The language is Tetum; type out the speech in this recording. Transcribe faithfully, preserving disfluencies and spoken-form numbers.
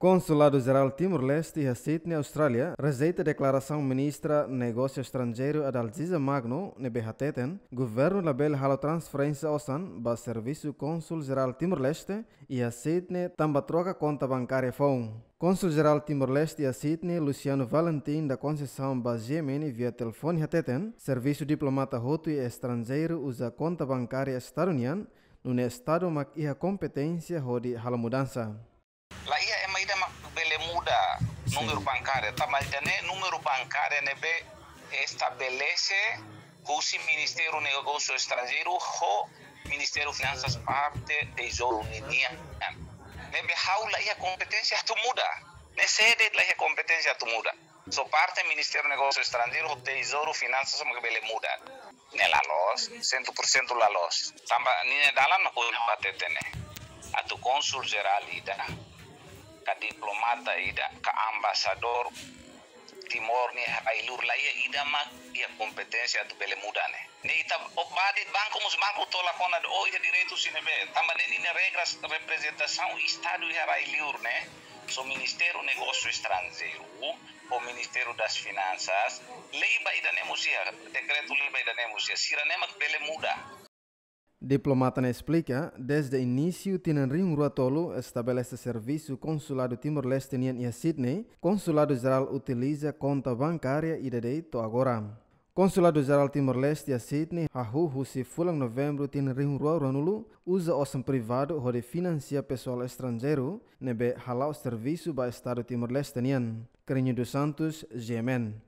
Konsuladu Jerál Timor-Leste iha Sydney, Austrália, rejeita deklarasaun Ministra Negósiu Estranjeiru Adalgisa Magno ne'ebé hateten governu labele halo transferénsia osan ba Servisu Kónsul Jerál Timor-Leste iha Sydney tanba troka konta bankária foun. Kónsul Jerál Timor-Leste iha Sydney, Luciano Valentim da Conceição, ba G M N via telefone hateten servisu diplomata hotu iha estranjeiru uza konta bankária Estadu nian, nune'e Estadu mak iha kompeténsia hodi halo mudansa. La iha ema ida mak bele muda númeru bankária, tanba ida-ne'e númeru bankária ne'ebé estabelese husi Ministériu Negósiu Estranjeiru ho Ministériu Finansas parte Tezouru ninian. Ne'ebé ha'u la iha kompeténsia atu muda. Ne'e sé de'it la iha kompeténsia atu muda. Só parte Ministériu Negósiu Estranjeiru ho Tezouru Finansas mak bele muda. Ne'e la loos, sentu por sentu la loos. Tanba ninia dalan mak ohin ha'u hateten ne'e. Atu kónsul jerál ida, ka diplomata ida, ka embaixadór Timor nia iha rai-liur, la iha ida mak iha kompeténsia atu bele muda ne'e. Ne'e ita, o, ba de'it banku mós, banku tola kona de'it, o, iha direitu sira ne'ebé. Tanba ne'e ninia regras reprezentasaun Estadu iha rai-liur ne'e, só Ministériu Negósiu Estranjeiru ho Ministériu das Finansas, lei ba ida-ne'e mós iha, dekretu-lei ba ida-ne'e mós iha, sira-ne'e mak bele muda. Diplomata ne'e esplika, dezde inísiu tinan rihun rua tolu estabelese servisu Konsuladu Timor-Leste nian iha Sydney, Konsuladu Jerál utiliza konta bankária ida de'it to'o agora. Konsuladu Jerál Timor-Leste iha Sydney hahú husi fulan Novembru tinan rihun rua ruanulu uza osan privadu hodi finansia pesoál estranjeiru ne'ebé hala'o servisu ba Estadu Timor-Leste nian. Carrinho dos Santos, G M N.